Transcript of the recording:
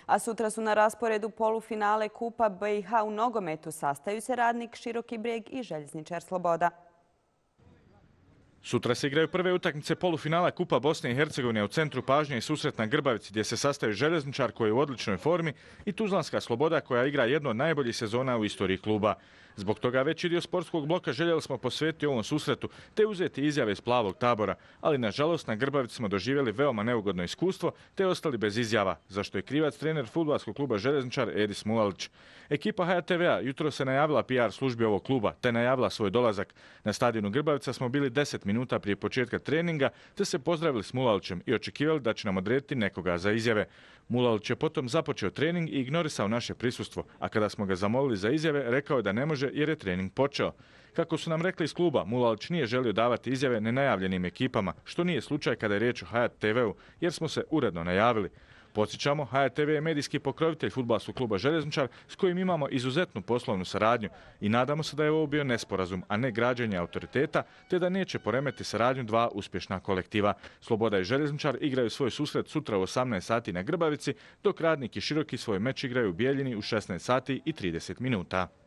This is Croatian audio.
A sutra su na rasporedu polufinale Kupa BiH u nogometu. Sastaju se Radnik Široki Brijeg i Željezničar Sloboda. Sutra se igraju prve utakmice polufinala Kupa Bosne i Hercegovine u centru pažnje i susret na Grbavici gdje se sastaju Željezničar koji je u odličnoj formi i Tuzlanska Sloboda koja igra jednu od najboljih sezona u istoriji kluba. Zbog toga veći dio sportskog bloka željeli smo posvetiti ovom susretu te uzeti izjave iz Plavog tabora, ali nažalost na Grbavici smo doživjeli veoma neugodno iskustvo te ostali bez izjava, za što je krivac trener fudbalskog kluba Željezničar Edis Mulalić. Ekipa HTV-a jutro se najavila PR službi ovog kluba te najavila svoj dolazak. Na stadionu Grbavica smo bili 10 minuta prije početka treninga te se pozdravili s Mulalićem i očekivali da će nam odrediti nekoga za izjave. Mulalić je potom započeo trening i ignorisao naše prisustvo, a kada smo ga zamolili za izjave, rekao je da ne može jer je trening počeo. Kako su nam rekli iz kluba, Mulalić nije želio davati izjave nenajavljenim ekipama, što nije slučaj kada je riječ o HTV-u, jer smo se uredno najavili. Podsjećamo, HTV je medijski pokrovitelj fudbalskog kluba Željezničar s kojim imamo izuzetnu poslovnu saradnju i nadamo se da je ovo bio nesporazum, a ne građenje autoriteta, te da neće poremeti saradnju dva uspješna kolektiva. Sloboda i Željezničar igraju svoj susret sutra u 18 sati na Grbavici, dok Radnik i Široki svoj meč igraju u Bijeljini u 16 sati i 30 minuta.